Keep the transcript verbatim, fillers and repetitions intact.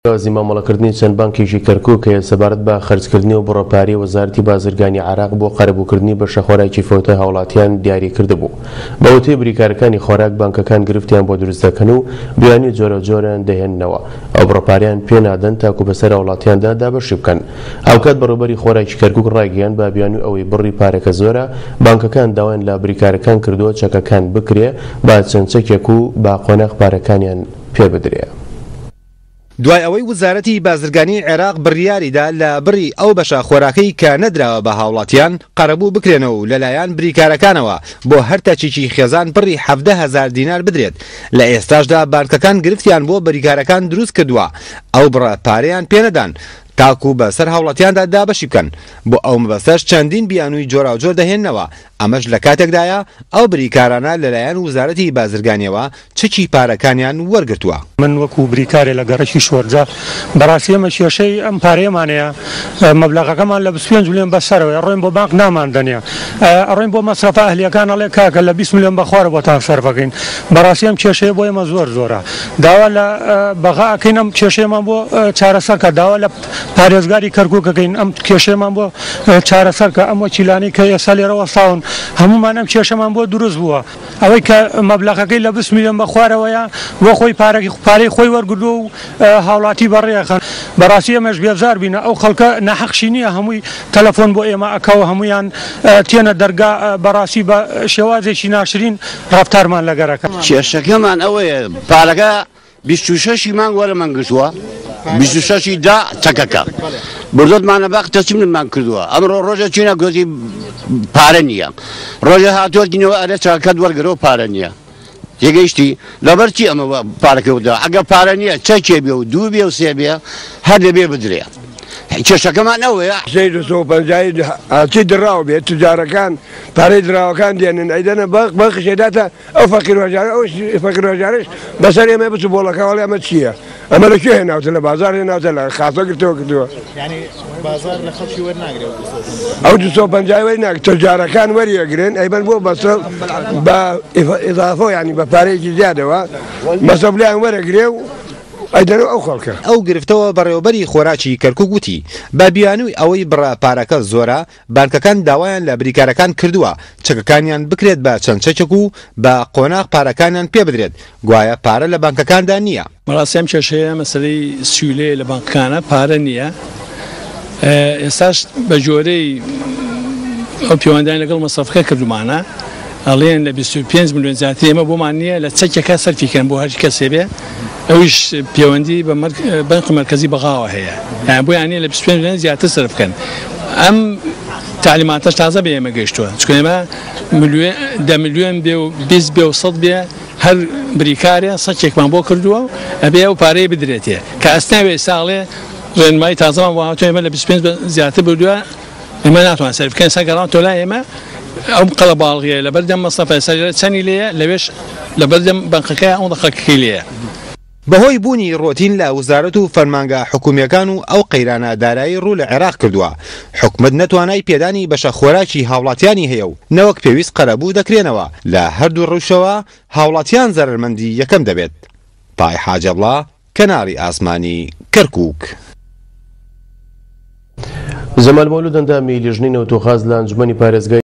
شێوازی مامەڵەکردنی چەند بانکێکی کەرکوک هەیە سەبارەت بە خەرجکردنی و بڕە پارەی وەزارەتی بازرگانی عێراق بۆ قەرەبووکردنی بەشە خۆراکی فەوتای هاوڵاتیان دیاری کردبوو. بە وتەی بریکارەکانی خۆراک بانکەکان گرفتیان بۆ دروست دەکەن و بیانووی جۆراوجۆریان دەهێننەوە، ئەو بڕە پارەیان پێ نادەن تاکو بەسەر هاوڵاتیاندا دابەشی بکەن. هاوکات بەڕێوەبەری خۆراکی کەرکوک ڕایگەیاند بە بیانووی ئەوەی بڕی پارەکە زۆرە، بانکەکان داوایان لە بریکارەکان کردووە چەکەکان بکرێ بە چەند چەکێک و بە قۆناغ پارەکانیان پێ بدرێ. دوای ئەوەی وەزارەتی بازرگانی عێراق بڕیاریدا لە بڕی ئەو بەشە خۆراکەی کە نەدراوە بە هاوڵاتیان قەرەبوو بکرێنەوە و لەلایەن بریکارەکانەوە بۆ هەر تەچێکی خێزان بڕی حەڤدە هەزار دینار بدرێت، لە ئێستاشدا بانکەکان گرفتیان بۆ بریکارەکان دروست کردووە، ئەو بڕە پارەیان پێنەدان تاکو بەسەر هاوڵاتیاندا دابەشی بکەن. بۆ ئەو مەبەستەش چەندین بیانووی جۆراوجۆر دەهێننەوە، ئەمەش لە کاتێکدایە ئەو بریکارانە لەلایەن وەزارەتی بازرگانیەوە چەکی پارەکانیان وەرگرتووە. من وەکو بریکارێ لە گەڕەکی شۆرجە بەڕاستی ئێمە کێشەی ئەم پارەیەمانەیە، مەبلەغەکەمان لە بیست و پێنج ملیۆن بەسەرەوەیە، ئەڕۆین بۆ بانک ناماندەنێ، ئەڕۆین بۆ مەسرەفە ئەهلیەکان ئەڵێ کاکە لە بیست ملیۆن بەخوارە بۆتان سەرفەکەین. بەڕاستی ئەم کێشەیە بۆ ئێمە زۆر زۆرە، داوا لە بەغا ئەکەین ئەم کێشەیەمان بۆ چارەسەرکە، داوا لە پارێزگاری کەرکووکەکەین ئەم کێشەیەمان بۆ چارەسەرکە. ئەم وەکیلانەی کە ئێستا لێرە وەستاون هەمومان ئەم کێشەمان بۆ دروست بووە. ئەوەی کە مەبلەغەکەی لە بیست ملیۆن بەخوارەوەیە بۆ خۆی پارەی خۆی وەرگردووە و هاوڵاتی بەڕێخەن. بەڕاستی ئێمەش بێزار بینە، ئەو خەڵکە ناحەقشی نییە، هەمووی تەلەفۆن بۆ ئێمە ئەکەوە، هەمویان تێنە دەرگا، بەڕاستی بە شێوازێکی ناشرین ڕەفتارمان لەگەرەکە. کێشەکەمان ئەوەیە پارەکە بیست و شەشی مانگ وەرەمان گرتووە، بیست و شەشی دا چەکەکە بردۆتمانە باق تەسلیممان کردووە. ئەمڕۆ ڕۆژە چینە گۆتی پارە نییە، ڕۆژە هاتووەتینەوە ئەرێ چاکەت وەرگرەوە پارە نییە. تێگەیشتی لەبەر چی ئەمە پارەکە وتەوە؟ ئەگەر پارە نییە چەکێ بێ و دوو بێ و سێ بێ هەر دەبێ بدرێ. کێشەکەمان ئەوەیە سێ دوو و پەنجای چی دراو بێت، تجارەکان پارەی دراوەکان دێنن ئەیدەنە بەق بەخش ئێداتە ئەو فەقیر هەژارە، ئەو فەقیر هەژارەش بەسەر ئێمە بچوو بۆڵەکە وەڵێ ئەمە چییە؟ ئەمە لە کوێ هێناوتە؟ لە بازار هێناوتە، لە خاسە گرتەوە کردووە. بازار لە خەڵکی وەرناگرێ ئەو دوو سەد و پەنجای وەرناگرێ، تجارەکان وەریەگرن ئەیبەن بۆ بەسە بە ئیضافە، یعنی بە پارەیەکی زیادەوە مەسەف لیان وەرەگرێ و ئەیدەنەوە ئەو خەڵکە. ئەو گرفتەوە بەڕێوەبەری خۆراکی کەرکوک وتی بە بیانووی ئەوەی بڕە پارەکە زۆرە، بانکەکان داوایان لە بریکارەکان کردووە چەکەکانیان بکرێت بە چەند چەکێک و بە قۆناغ پارەکانیان پێ بدرێت، گوایە پارە لە بانکەکاندا نییە. بەڕاستی ئەم کێشەیە مەسەلەی سیولەیە لە بانکەکانە، پارە نییە. ئێستاش بە جۆرەی ئەو پەیوەندیان لەگەڵ مەسرەفەکە کردومانە، ئەڵێن لە بیست و پێنج ملیۆن زیاتر ئێمە بۆمان نییە لە چەکێکە سەرفیکەن بۆ هەر کەسێ بێ، ئەویش پەیوەندی بە بانکی مەرکەزی بەغاوە هەیە، یان بۆیان نییە لە بیست و پێنج ملیۆن زیاتر سەرف بکەن. ئەم تعلیماتەش تازە بە ئێمە گەیشتووە، چونکە ئێمە دە ملیۆن بێ و بیست بێ و سەد بێ هەر بریکارێ سەکێکمان بۆ کردووە ئەبێ ئەو پارەی بدرێتێ کە ئەسناوێ ساڵێ ڕێنمایی تازەمان بۆ هاتووە ئێمە لە بیست و پێنج زیاتر بردووە، ئێمە ناتوان سەرف بکەین. ئێستا گەڕان تۆ لای ئێمە ئەو قەڵەباڵغیە لەبەردەم مەسرەفە ئێستا چەنی لێیە، لەوێش لەبەردەم بانکەکەی ئەوەندە خەڵکەکەی لێیە. بەهۆی بوونی ڕۆتین لە وەزارەت و فەرمانگە حکومیەکان و ئەو قەیرانە دارایی ڕوو لە عێراق کردووە، حکومەت نەتوانای پێدانی بەشە خۆراکی هاوڵاتیانی هەیە و نەوەک پێویست قەرەبوو دەکرێنەوە. لە هەردوو ڕەوشەوە هاوڵاتیان زەرەرمەندی یەکەم دەبێت. پای حاجەبڵا، کەناڵی ئاسمانی کەرکوک. جەمال مەولود ئەندامی لیژنەی نەوت و غاز لە ئەنجومەنی پارێزگای